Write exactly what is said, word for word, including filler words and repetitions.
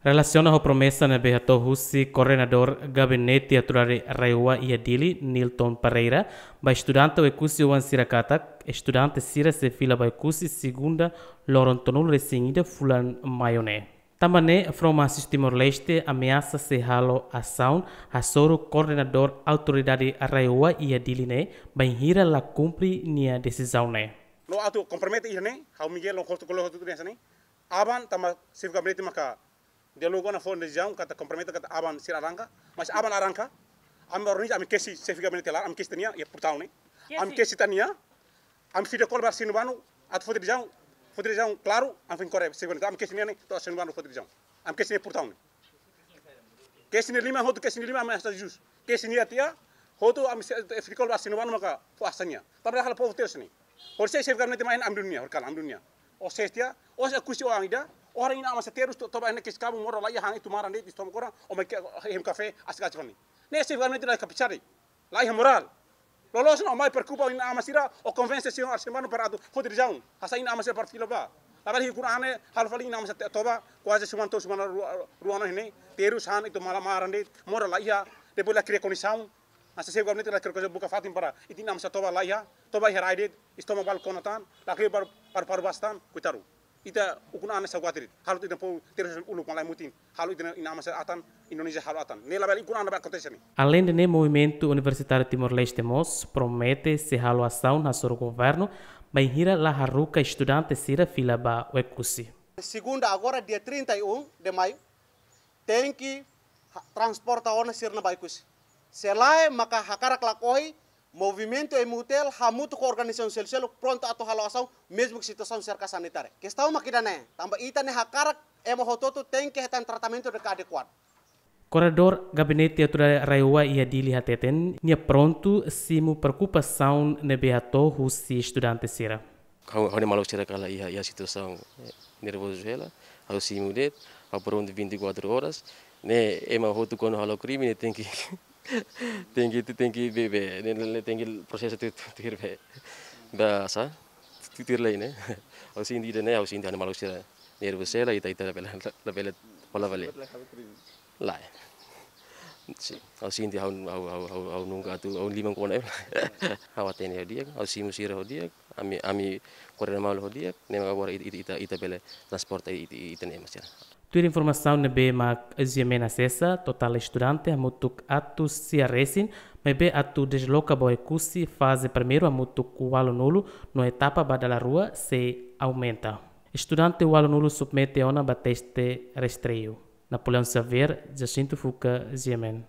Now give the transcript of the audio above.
Relasiona ho promesa ne'ebé hato'o husi Koordenadór Gabinete Autoridade RAEOA iha Dili, Nilton Pereira, ba estudante Oekusi oan sira katak, estudante sira sei fila ba Oekusi segunda loron tolunulu-resin-ida fulan Maiu ne'e. Tanba ne'e, Front Marxista Timor-Leste ameasa sei halo asaun hasoru Koordenadór Autoridade RAEOA iha Dili ne'e, bainhira la kumpre nia desizaun ne'e. No atu kompromete iha ne'e, ha'u Miguel no hotu kolega hotu ne'e hanesan ne'e. Aban tanba Xefe Gabinete maka diálogu ona fó desizaun katak kompromete katak aban sira arranka, mas aban arranka, ami organiza, ami kesi Xefe Gabinete laran, ami kesi tiha nia, iha portaun ne'e. Ami kesi tiha nia, ami video call ba Sinu Banu, atu fó desizaun, fó desizaun klaru, ami foin kore Xefe Gabinete, ami kesi nia ne'e, to'o Sinu Banu fó desizaun. Ami kesi nia portaun ne'e. Kesi nia liman hotu, kesi nia liman, ami hasta jus. Kesi nia tiha, hotu ami se, video call ba Sinu Banu maka fó hanesan ne'e. Tanba halo povu terus ne'e. Horisehik Xefe Gabinete mai ami dunia, horikalan ami dunia. Ó ses tiha, ó ses Oekusi oan ida, ó haree inan-aman sira terus to, toba iha ne'e kesi kabun modo la iha han itu maran de'it, estoma koran, ó mai ke, hem kafé, asik-asik fali. Ne'e Xefe Gabinete la kapasá de'it, la iha morál. Loloos ona ó mai preokupa inan-aman sira, ó konvense señór Arsene Bano para atu fó desizaun. Hasai inan-aman sira para fila ba. Labele ukun-an ne'e, halo fali inan-aman sira toba, kuaze semana to'o semana rua, rua ona iha ne'e, terus han itu malan maran de'it, modo la iha, depois la kria kondisaun, hanesan Xefe Gabinete la kria kondisaun buka fatin para ita inan-aman sira toba la iha, toba iha rai de'it, estoma balu kona tan, la kria para, para, para bas tan, koitadu. Ita ukun-an ne'e saugatir, halo ita povu terus uluk malae mutin, halo ita inan-aman sira atan, Indonézia halo atan. Ne'e labele ukun-an ne'ebé akontese ne'e. Aleinde ne'e, Movimentu Universitáriu Timor-Leste mós promete sei halo asaun hasoru governu, bainhira la haruka estudante sira fila ba Oekusi. Segunda agora, dia trinta e um de maio, tenke ha-, transporta ona sira-nia ba Oekusi. Se lae maka hakarak lakohi, Movimentu M U T L hamutuk ho organizasaun seluk-seluk prontu atu halo asaun, mezmu ke situasaun serka sanitária. Kestaun mak ida-ne'e, tanba ita-nia hakarak ema hotu-hotu tenke hetan tratamentu ne'ebé adekuadu. Koordenadór Gabinete Autoridade RAEOA iha Dili hateten, nia prontu simu preokupasaun ne'ebé hato'o husi estudante sira. Ha'u, ha'u-nia maluk sira kala iha, iha situasaun, eh, nervozu hela, ha'u simu de'it, ha'u prontu vinte e quatro horas, ne'e ema hotu kuandu halo krime ne'e tenke, tenke, tenke bebe, ne'e, ne'e, ne'e tenke prosesu tuir, tuir, tuir be. Ba sá, tuir, tuir lei ne'e. Ha'u sente ida-ne'e, ha'u sente ha'u-nia maluk sira nervozu hela, ita, ita labele, labele hola fali. Lae. Sin, ha'u sente ha'u, ha'u, ha'u, ha'u, ha'u nunka atu, ha'u liman kona. Ha'u hatene ho di'ak, ha'u simu sira ho di'ak, ami, ami koordena malu ho di'ak, ne'e mak agora ita, ita, ita, ita bele transporta ita, ita, ita-nia ema sira. Tuir informasaun ne'ebé mak GMN asesa, totál estudante hamutuk atus sia resin, maibé atu desloka ba Oekusi faze primeiru hamutuk ualunulu, no etapa ba dala rua sei aumenta. Estudante ualunulu submete ona ba teste rastreiu. Napoleão Xavier, Jacinto Fuca, GMN.